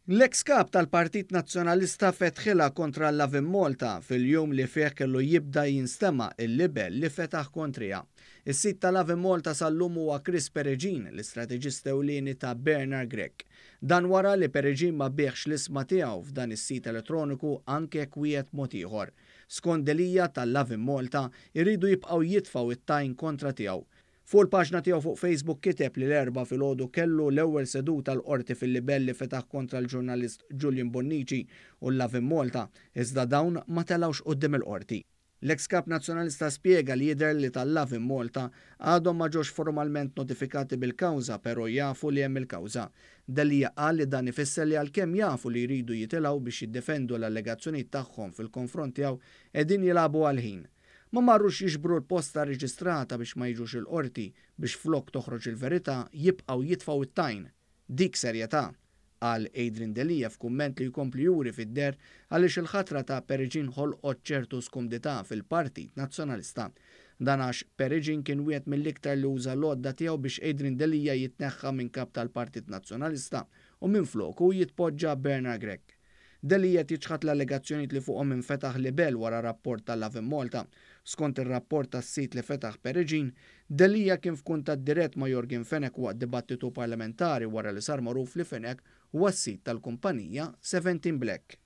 L-eks Kap tal-Partit Nazzjonalista fetħilha kontra Lovin Malta fil-jum li fih kellu jibda jinstema' il-libell li fetaħ kontriha. Is-sid ta' Lovin Malta sal-lum huwa Chris Peregin, l-istrateġista ewlieni ta' Bernard Grech. Dan wara li Peregin ma biegħx l-ishma tiegħu f'dan is-sit elettroniku anke jekk wiegħed mod ieħor. Skont Delia ta' Lovin Malta jridu jibqgħu jitfgħu it-tajn kontra tiegħu. Fuq il-paġna tiegħu fuq Facebook kiteb li l-Erbgħa filgħodu kellu l-ewwel seduta l-Qorti fil-libell li fetaħ kontra l-ġurnalist Julian Bonnici u Lovin Malta, iżda dawn ma telgħux quddiem il-Qorti. L-eks Kap Nazzjonalista spjega li jidher li tal-Lovin Malta għadhom ma ġewx formalment notifikati bil-kawża però jafu li hemm il-kawża. Delia qal li dan ifisser li għalkemm jafu li jridu jitilgħu biex jiddefendu l-allegazzjonijiet tagħhom fil-konfront tiegħu qegħdin jilagħbu għall-ħin. Ma marrux jiġbru l-posta reġistrata biex ma jiġux il-qorti biex flok toħroġ il-verità jibqgħu jitfgħu it-tajn. Dik serjetà, qal Adrian Delia f'kumment li jkompli juri fid-deher għaliex il-ħatra ta' Peregin ħolqot ċertu skumdità fil-Partit Nazzjonalista. Dan għax Peregin kien wieħed mill-iktar li uża l-għodda tiegħu biex Adrian Delia jitneħħa minn kap tal-Partit Nazzjonalista u minfloku jitpoġġa Bernard Grech. Delia jiċħad l-allegazzjonijiet li fuqhom infetaħ libell wara rapport tal-Lovin Malta. Skont ir-rapport tas-sit li fetaħ Peregin, Delia kien f'kuntatt dirett ma' Yorgen Fenech waqt dibattitu parlamentari wara li sar magħruf li Fenech huwa s-sid tal-kumpanija 17 Black.